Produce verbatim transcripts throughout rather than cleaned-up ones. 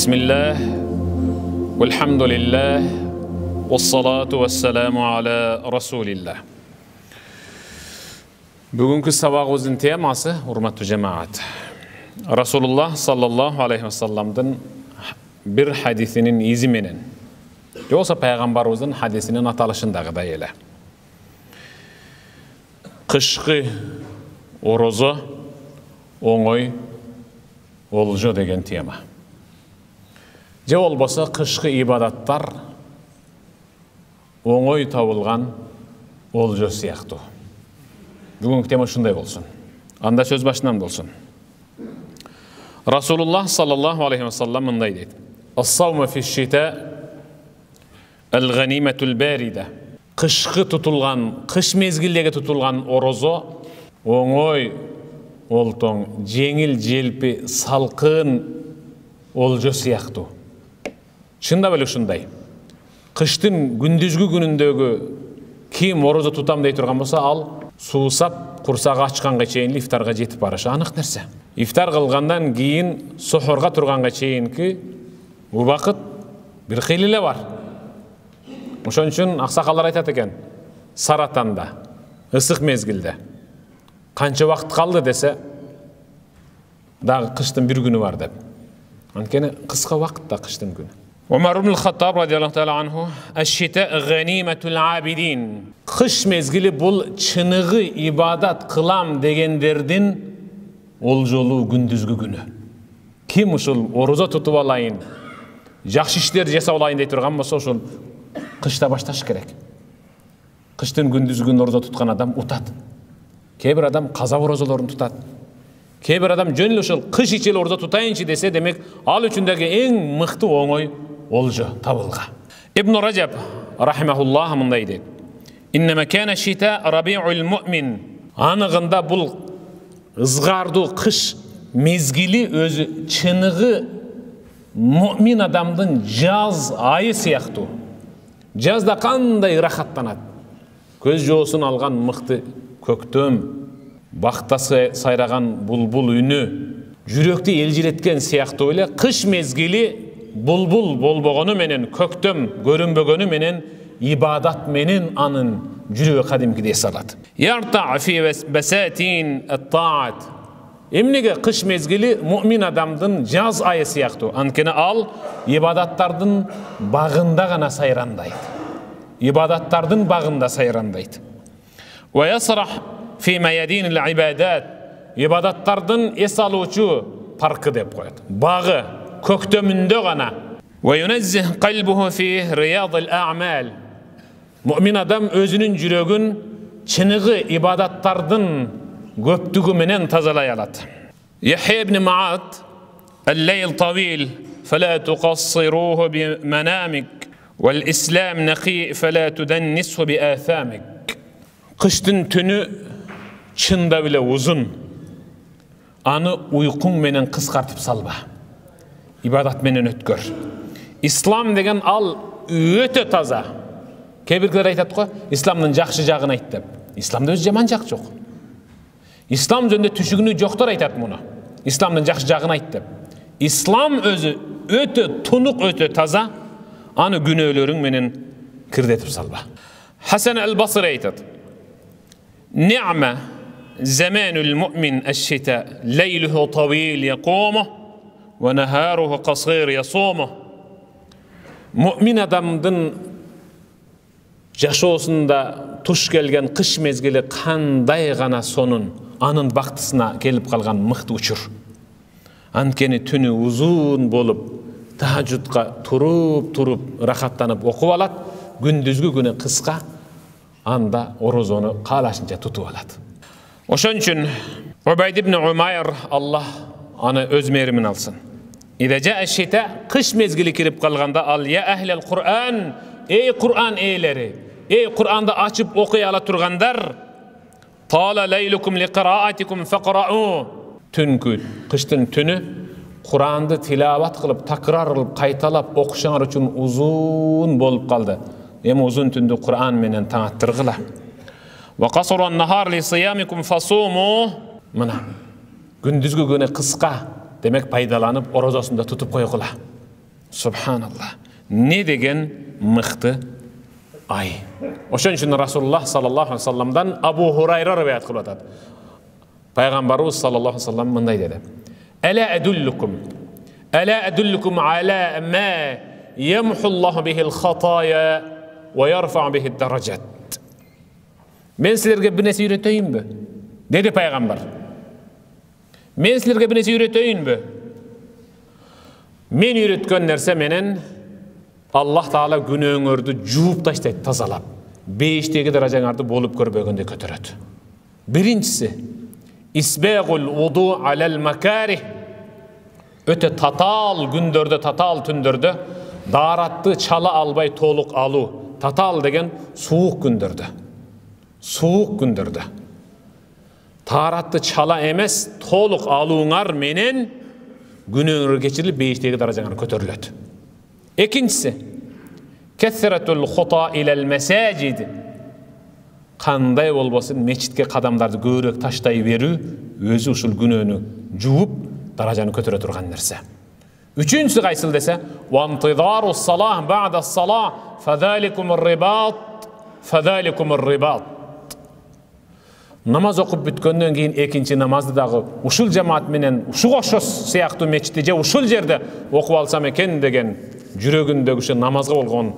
Bismillah, walhamdulillah, wassalatu wassalamu ala rasulillah. Бүгүнкү сабагыбыздын темасы, урматтуу жамаат, Rasulullah sallallahu aleyhi ve sellem'дин bir hadisinin izi менен, жокса пайгамбарыбыздын хадисинин аталышындагыдай эле. Кышкы орозо оңой олжо деген тема. Же болбосо кышкы ибадаттар оңой табылган олжо сыяктуу. Бүгүнкү тема ушундай болсун. Анда сөз башынан болсун. Rasulullah sallallahu aleyhi ve sellem мындай дейт: "Ас-сауму фиш-шита ал-ганиматул барида." Кышкы тутулган, кыш мезгилдеги тутулган орозо оңой олтоң, жеңил желпи, салкын олжо сыяктуу. Чындап эле ушундай. Кыштын күндүзгү күнүндөгү ким орозо тутам дей турган болсо, ал суусап, курсагы ачканга чейин ифтарга жетип барышы анык нерсе. Ифтар кылгандан кийин сохорго турганга чейинки убакыт бир кыйыл эле бар. Ошон үчүн аксакалдар айтат экен, саратанда, ысык мезгилде канча убакыт калды десе, дагы кыштын бир күнү бар деп. Анткени кыска убакытта кыштын күнү. Умар ибн Хаттаб радиаллаху таала анху: "Аш-шита ганиматул абидин." Кыш мезгили бул чыныгы ибадат кылам дегендердин олжолуу күндүзгү күнү. Ким ушул орозо тутуп алайын, жакшы иштер жасап алайын дей турган болсо, ушул кышта башташ керек. Кыштын күндүзгү күнү орозо туткан адам утат. Кээ бир адам каза орозолорун тутат. Кээ бир адам жөн эле ушул кыш ичи эле орозо тутайынчы десе, демек ал үчүн дагы эң мыкты оңой олжо табылга. Ибн Раджаб рахимахуллах мындай дейт: "Иннама кана шита рабиул муъмин." Аныгында бул ызгардуу кыш мезгили өзү чыныгы муъмин адамдын жаз айы сыяктуу. Жазда кандай рахаттанат. Көз жоосун алган мыкты көктөм, бакта сайраган булбул үнү, жүрөктү элжиреткен сыяктуу эле кыш мезгили булбул болбогону менен, көктөм көрүнбөгөнү менен, ибадат менен анын жүрөгү кадимкидей салат. Ярта фи басатин ат-таат. Эмнеге кыш мезгили муъмин адамдын жаз айы сыяктуу? Анткени ал ибадаттардын багында гана сайрандайт. Ибадаттардын багында сайрандайт. Ва ясрах фи маядин ал-ибадат. Ибадаттардын эс алуучу паркы деп коет. Багы көктөмүндө гана. Ва юназзих калбуху фи рияд ал-а'мал. Муъмин адам өзүнүн жүрөгүн чыныгы ибадаттардын көптүгү менен тазалай алат. Яхья ибн Маъад: "Ал-лайл тавил, фала туқассируху би-манамик, вал-ислам нақи, фала туданнисху би-атhamik." Кыштын түнү чындап эле узун. Аны уйкуң менен кыскартып салба. Ибадат менен өткөр. Ислам деген ал өтө таза. Кээ бирлер айтат го, исламдын жакшы жагын айт деп. Исламда өз жаман жак жок. Ислам жөнүндө түшүгүнү жоктор айтат муну. Исламдын жакшы жагын айт деп. Ислам өзү өтө тунук, өтө таза. Аны күнөөлөрүң менен кирдетип салба. Хасан ал-Басри айтат: "Ни'ма заманул муъмин аш-шита, лейлуху тавил якуму, ва нахаруху касир ясуму." Муъмин адамдын жашоосунда туш келген кыш мезгили кандай гана сонун, анын бактысына келип калган мыкты учур. Анткени түнү узун болуп, тахажжудка туруп-туруп рахаттанып окуп алат, күндүзгү күнү кыска, анда орозону каалашынча тутуп алат. Ошон үчүн Убайд ибн Умайр, Аллах аны өз мээримин алсын, "Ида жаа аш-шита", кыш мезгили кирип калганда, ал "Я ахлал Кур'ан", эй Кур'ан ээлери, эй Кур'анды ачып окуй ала тургандар, "Тала лейлукум лиқираатикум фақрау", түнкү, кыштын түнү Кур'анды тилават кылып, такрар кылып, кайталап окушуңар үчүн узун болуп калды. Эми узун түндү Кур'ан менен таң аттыргыла. "Ва касран нахар ли сиямикум фасуму", мына күндүзгү күнү кыска, демек пайдаланып орозосунда тутуп койгула. Субханалла. Не деген мыкты ай. Ошон үчүн Расулуллах саллаллаху алейхи вассаламдан Абу Хурайра риваят кылып атат. Пайгамбарыбыз саллаллаху алейхи вассалам мындай деди: "Ала адуллукум, ала адуллукум ала ма ямхуллаху бихил хатая ва ярфа бихид даражат." Мен силерге бир нерсе үйрөтөйүнбү? Деди пайгамбар. Мен силерге бир нерсе үйрөтөйүнбү? Мен үйрөткөн нерсе менен Аллах Таала күнөөңөрдү жууп таштайт, тазалап, бейиштеги даражаңарды болуп көрбөгөндө көтөрөт. Биринчиси исбагул вуду алал макарих. Өтө татаал күндөрдө, татаал түндөрдө дааратты чала албай толук алуу. Татаал деген суук күндөрдө. Суук күндөрдө тааратты чала эмес, толук алууңар менен күнөөңөр кечирилип, бейиштеги даражаңар көтөрүлөт. Экинчиси кесратул хута илал масажид. Кандай болбосун мечитке кадамдарды көбүрөөк таштай берүү өзү ушул күнөөнү жууп, даражаны көтөрө турган нерсе. Үчүнчүсү кайсыл десе, вантидару салах ба'да салах фадаликумур рибат, фадаликумур рибат. Намаз окуп бүткөндөн кийин экинчи намазды дагы ушул жамаат менен ушул ошос сыяктуу мечитте же ушул жерде окуп алсам экен деген жүрөгүндөгү ушу намазга болгон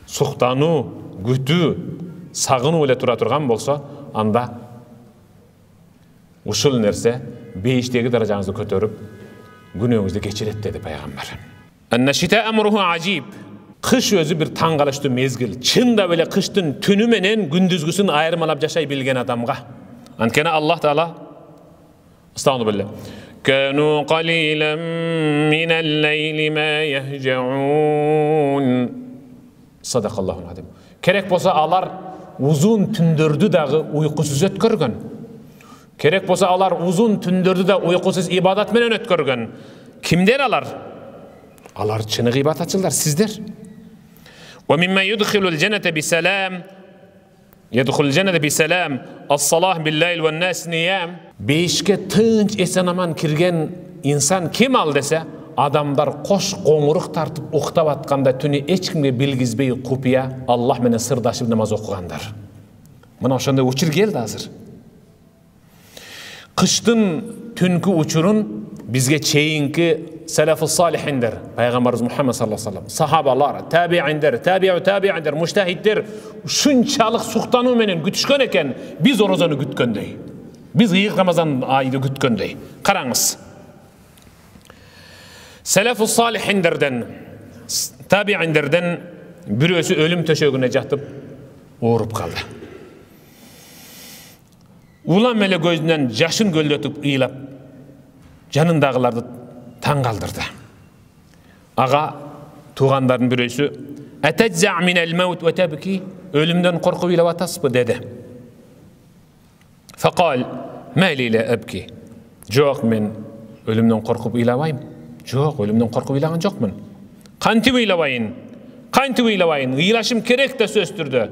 суктануу, күтүү, сагынуу эле тура турган болсо, анда ушул нерсе бейиштеги даражаңызды көтөрүп, күнөөңүздү кечирет деди пайгамбар. Аннашита амруху ажиб. Кыш өзү бир таң калыштуу мезгил. Чындап эле кыштын түнү менен күндүзгүсүн айырмалап жашай билген адамга. Анткени Аллах Таала Астагфирулла. Кану қалилан минал лейли ма яхжаун. Садақаллахул азим. Керек болса алар узун түндөрдү дагы уйкусуз өткөргөн. Керек болса алар узун түндөрдү да уйкусуз ибадат менен өткөргөн. Кимдер алар? Алар чыныгы ибадатчылар, сиздер. Wa mimma yudkhilul jannata bisalam yadkhulul jannata bisalam as-salah bil-layl wan-nas niyam. Бейишке тынч эсен-аман кирген инсан ким ал десе, адамдар кош коңурук тартып уктап атканда түнү эч кимге билгизбей купия Аллах менен сырдашып намаз окугандар. Мына ошондой учур келди азыр. Кыштын түнкү учурун бизге чейинки салафус салихиндер, пайгамбарыбыз Мухаммад саллаллаху алейхи вассалам, сахабалар, табииндер, табиу табииндер, муштахиддер ушунчалык суктануу менен күтүшкөн экен, биз орозону күткөндөй. Биз ыйык Рамазан айды күткөндөй. Караңыз. Салафус салихиндерден, табииндерден бирөөсү өлүм төшөгүнө жатып ооруп калды. Улам эле көзүнөн жашын көлдөтүп ыйлап, жанындагыларды таң калдырды. Ага туугандардын бирөөсү атажза минал маут ва табки, өлүмдөн коркуп ыйлап атасызбы деди. Факал мали ла абки. Жок, мен өлүмдөн коркуп ыйлабайм. Жок, өлүмдөн коркуп ыйлаган жокмун. Кантип ыйлабайын? Кантип ыйлабайын? Ыйлашым керек да сөз түрдө.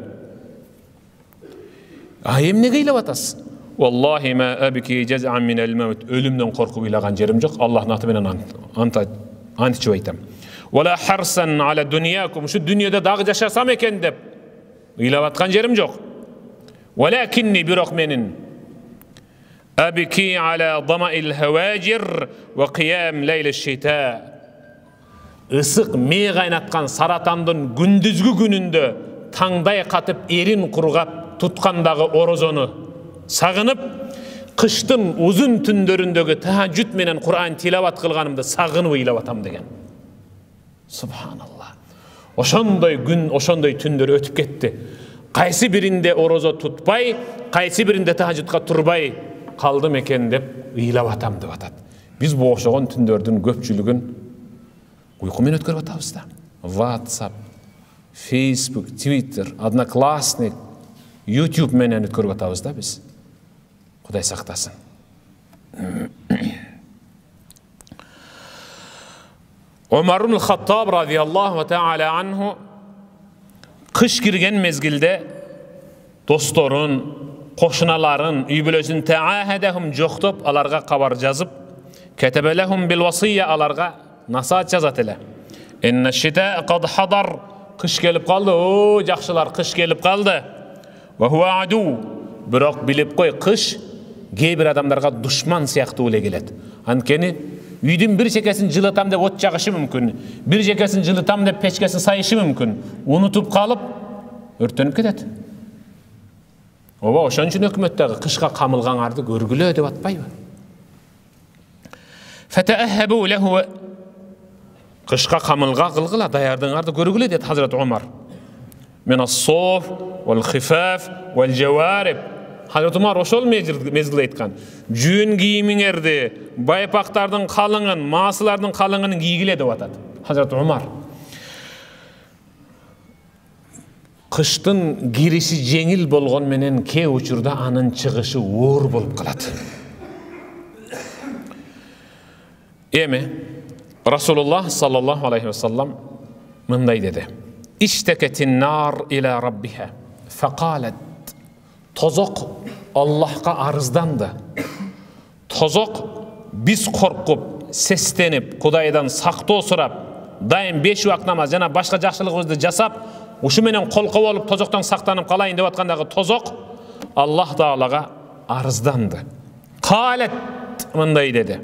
А эмнеге ыйлап атасыз? Wallahi ma abki jaz'an min al-maut. Ölümden korkup uylagan jerim yok. Allah'ın atı menen anta antичип айтам. Wala harsan ala dunyakum. Şu dünyada dagı yaşasam eken dep ыйлап аткан жерим жок. Walakinni birok menin abki ala dama'il hawajir wa qiyam layl ash-shita. Isık mey kaynatkан saratandын gündüzgü gününde tаңдай katıp erin kurgap tutkandagı orozonu сагынып, кыштын узун түндөрүндөгү тахажжуд менен Кур'ан тилават кылганымды сагынып ыйлап атам деген. Субханалла. Ошондой күн, ошондой түндөр өтүп кетти. Кайсы биринде орозо тутпай, кайсы биринде тахажжудка турбай калдым экен деп ыйлап атам деп атат. Биз бу ошогон түндөрдүн көпчүлүгүн уйку менен өткөрүп атабыз да. WhatsApp, Facebook, Twitter, Одноклассник, YouTube менен өткөрүп атабыз да биз. Кудай сактасын. Умар ибн Хаттаб радиаллаху таала анху кыш кирген мезгилде досторун, кошуналарын, үй бүлөсүн таахадахум жоктоп, аларга кабар жазып, катабалахум бил васия, аларга насаат жазат эле. Инна шита кад хадар. Кыш келип калды. О, жакшылар, кыш келип калды. Ва хуа аду. Бирок билип кой, кыш кээ бир адамдарга душман сыяктуу эле келет. Анткени үйдүн бир чекесин жылытам деп от жагышы мүмкүн. Бир чекесин жылытам деп печкесин сайышы мүмкүн. Унутуп калып өрттөнүп кетет. Ооба, ошон үчүн өкмөттөгү кышка камылгаңарды көргүлө деп атпайбы? Фатаахабу лаху. Кышка камылга кылгыла, даярдыгыңарды көргүлө дейт Хазрат Умар. Мен ас-соф вал хифаф вал жавариб. Хазрат Умар ошол мезгилде айткан. Жүн кийимиңерди, байпактардын калыңын, маасылардын калыңын кийгиле деп атат Хазрат Умар. Кыштын кириши жеңил болгон менен кээ учурда анын чыгышы оор болуп калат. Эми Расулуллах саллаллаху алейхи ва саллам мындай деди. Иштакатин нар ила раббиха факалат. Тозок Аллахка арызданды. Тозок биз коркуп, сестенип, Кудайдан сактоо сурап, дайым беш убакыт намаз жана башка жакшылыгыбызды жасап, ушу менен колко болуп тозоктон сактанып калайын деп аткандагы тозок Аллах Таалага арызданды. Калат мындай деди.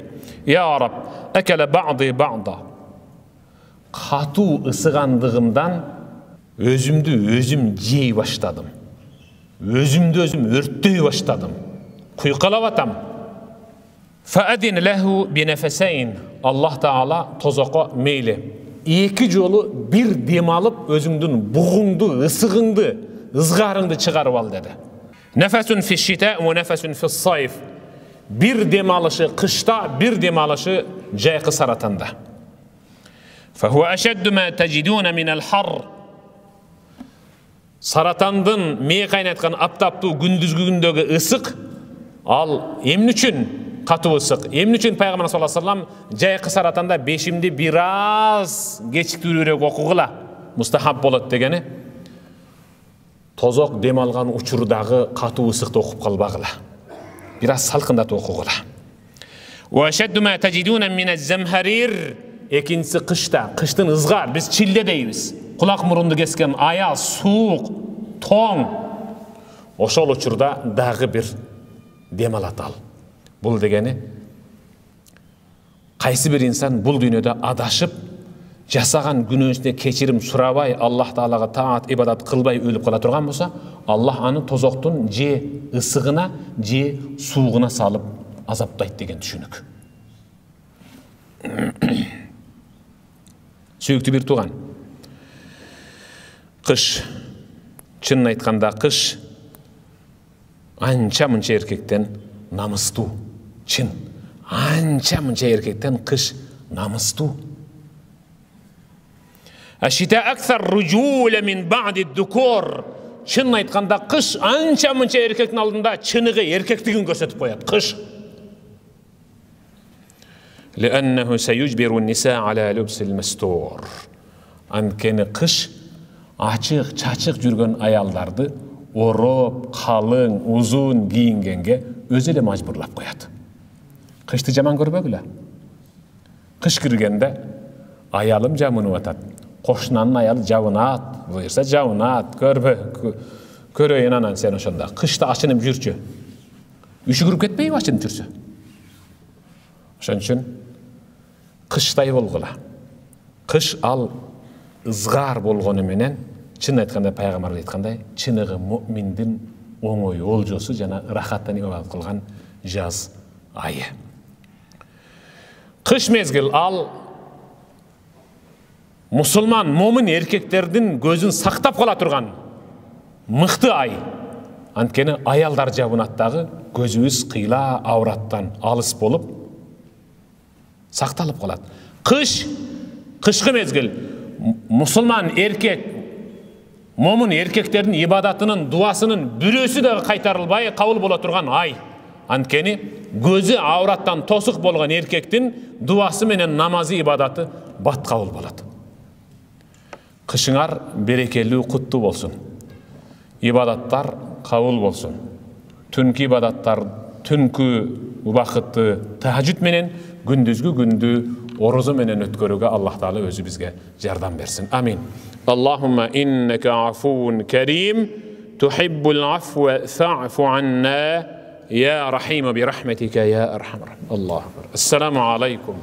Я Раб, акала бa'di ba'da. Катуу ысыгандыгымдан өзүмдү өзүм жей баштадым. Өзүмдү өзүм өрттөй баштадым. Куйкалап атам. Фаадин лаху бинафасайн. Аллах Таала тозокко мейли. Эки жолу бир дем алып, өзүңдүн бугуңду, ысыгыңды, ызгарыңды чыгарып ал деди. Нафасун фи шита ва нафасун фи сайф. Бир дем алышы кышта, бир дем алышы жайкы саратанда. Фахуа ашадду ма таджидуна мин ал-хар. Саратандын мээ кайнаткан аптаптуу күндүзгү күндөгү ысык ал эмне үчүн катуу ысык? Эмне үчүн Пайгамбар саллаллаху алейхи ва саллам жайкы саратанда бешимди бир аз кечиктүүрөөк окугула мустахаб болот дегени? Тозок дем алган учурдагы катуу ысыкты окуп калбагыла. Бир аз салкындатып окугула. Ва ашадду ма таджидуна мин az-zamharir. Экинчиси кышта, кыштын ызгар, биз чилде дейбиз. Кулак мурунду кескен аяз, суук, тоң. Ошол учурда дагы бир дем алат ал. Бул дегени кайсы бир инсан бул дүйнөдө адашып, жасаган күнөөсүнө кечирим сурабай, Аллах Таалага таат ибадат кылбай өлүп кала турган болсо, Аллах аны тозоктун же ысыгына, же суугуна салып азаптайт деген түшүнүк. Сүйүктүү бир тууган. Кыш, чынын айтканда кыш анча мынча эркектен намыстуу. Чын, анча мынча эркектен кыш намыстуу. Ашита аксар руджула мин бa'di ad-dukur. Чынын айтканда кыш анча мынча эркектин алдында чыныгы эркектигин көрсөтүп коет. Кыш. لأنه سيجبر النساء على لبس المستور. Анткени кыш ачык, чачык жүргөн аялдарды ороп, калың, узун кийингенге өзү эле мажбурлап коет. Кышты жаман көрбөгүлө. Кыш киргенде аялым жамынып атат. Кошунанын аялы жабынат, буюрса жабынат, көрбө, көрөйүн анан сен ошондо. Кышта ачынып жүрчү. Үшүгүрүп кетпейби ачынып жүрсө? Ошон үчүн кыштай болгула. Кыш ал ызгар болгону менен, чын айтканда пайгамбар айткандай, чыныгы муъминдин оңой олжосу жана рахаттан ибадат кылган жаз айы. Кыш мезгил ал мусулман, момин эркектердин көзүн сактап кала турган мыкты ай. Анткени аялдар жабынат дагы көзүбүз кыйла авраттан алыс болуп сакталып калат. Кыш, кышкы мезгил мусулман эркек, момун эркектердин ибадатынын, дуасынын бирөөсү да кайтарылбай кабыл боло турган ай. Анткени көзү авраттан тосук болгон эркектин дуасы менен намазы, ибадаты бат кабыл болот. Кышыңар берекелүү, куттуу болсун. Ибадаттар кабыл болсун. Түнкү ибадаттар, түнкү убакытты тахажжуд менен күндүзгү күндү орозо менен өткөрүүгө Аллах Таала өзү бизге жардам берсин. Амин. Аллахумма иннека афуун карим тухиббул афва фа'фу анна я рахим би рахматика я архамар. Аллаху акбар. Ассаламу алейкум.